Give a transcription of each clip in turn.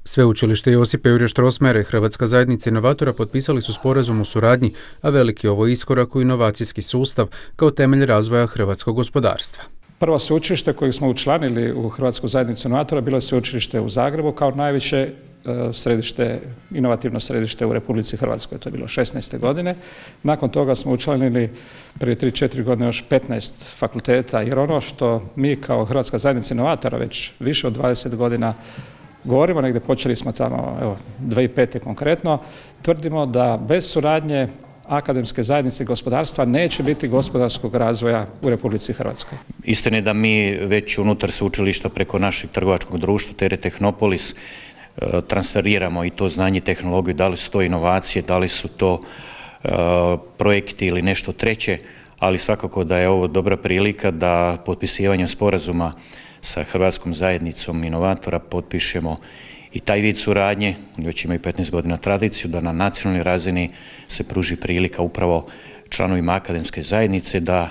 Sveučilište Josipa Jurja Strossmayera i Hrvatska zajednica inovatora potpisali su sporazum o suradnji, a veliki je ovo iskorak u inovacijski sustav kao temelj razvoja hrvatskog gospodarstva. Prvo sveučilište kojeg smo učlanili u Hrvatsku zajednicu inovatora bilo je sveučilište u Zagrebu kao najveće inovativno središte u Republici Hrvatskoj. To je bilo 16. godine. Nakon toga smo učlanili prije 3-4 godine još 15 fakulteta, jer ono što mi kao Hrvatska zajednica inovatora već više od 20 godina govorimo, negdje počeli smo tamo 2005. konkretno, tvrdimo da bez suradnje akademske zajednice i gospodarstva neće biti gospodarskog razvoja u Republici Hrvatskoj. Istina je da mi već unutar sveučilišta preko našeg trgovačkog društva TR Tehnopolis transferiramo i to znanje i tehnologiju, da li su to inovacije, da li su to projekti ili nešto treće, ali svakako da je ovo dobra prilika da potpisivanjem sporazuma sa Hrvatskom zajednicom inovatora potpišemo i taj vid suradnje, već imaju 15 godina tradiciju, da na nacionalnoj razini se pruži prilika upravo članovima akademske zajednice da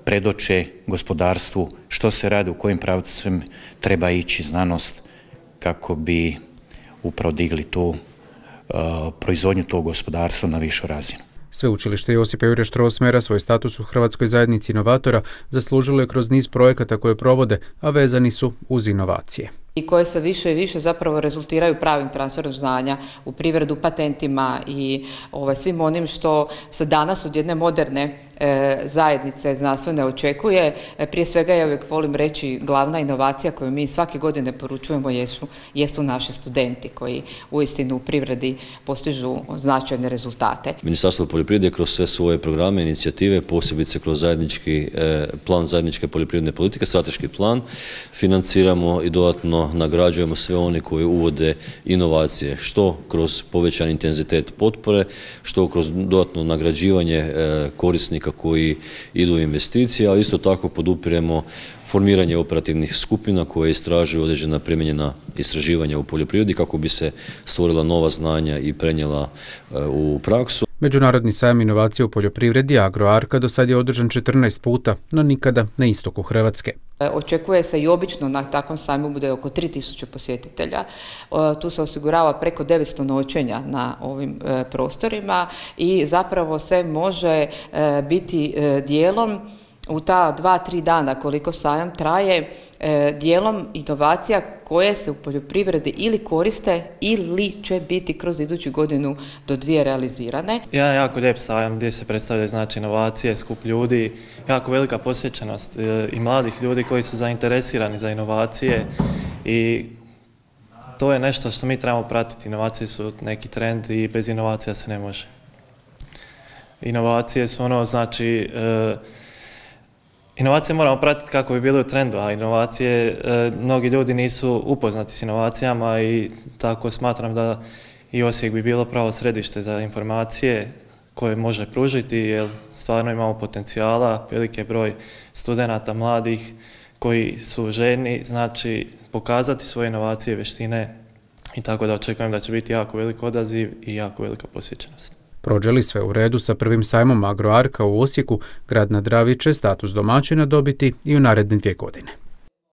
predoče gospodarstvu što se radi, u kojim pravcem treba ići znanost kako bi upravo digli tu proizvodnju tog gospodarstva na višu razinu. Sveučilište Josipa Jurja Strossmayera svoj status u Hrvatskoj zajednici inovatora zaslužilo je kroz niz projekata koje provode, a vezani su uz inovacije. I koje se više i više zapravo rezultiraju pravim transferom znanja u privredu, patentima i svim onim što se danas od jedne moderne zajednice znanstvene očekuje. Prije svega, ja uvijek volim reći, glavna inovacija koju mi svake godine poručujemo jesu naši studenti koji uistinu u privredi postižu značajne rezultate. Ministarstvo poljoprivrede kroz sve svoje programe, inicijative, posebice kroz zajednički plan zajedničke poljoprivredne politike, strateški plan, financiramo i dodatno nagrađujemo sve one koji uvode inovacije, što kroz povećan intenzitet potpore, što kroz dodatno nagrađivanje korisnika koji idu u investicije, ali isto tako podupiremo formiranje operativnih skupina koje istražuju određena primijenjena istraživanja u poljoprivredi kako bi se stvorila nova znanja i prenijela u praksu. Međunarodni sajam inovacija u poljoprivredi Agroarka do sad je održan 14 puta, no nikada na istoku Hrvatske. Očekuje se i obično na takvom sajmu bude oko 3000 posjetitelja. Tu se osigurava preko 900 noćenja na ovim prostorima i zapravo se može biti dijelom u ta 2-3 dana koliko sajam traje, dijelom inovacija koje se u poljoprivredi ili koriste ili će biti kroz iduću godinu do 2 realizirane. Jedan jako lijep sajam gdje se predstavljaju znači inovacije, skup ljudi, jako velika posvećenost i mladih ljudi koji su zainteresirani za inovacije i to je nešto što mi trebamo pratiti. Inovacije su neki trend i bez inovacija se ne može. Inovacije su inovacije moramo pratiti kako bi bili u trendu, a inovacije, mnogi ljudi nisu upoznati s inovacijama i tako smatram da i Osijek bi bilo pravo središte za informacije koje može pružiti, jer stvarno imamo potencijala, veliki broj studenata mladih koji su željni pokazati svoje inovacije, vještine i tako da očekujem da će biti jako velik odaziv i jako velika posjećenost. Prođe li sve u redu sa prvim sajmom Agroarka u Osijeku, grad na Dravi će status domaćina dobiti i u naredne 2 godine.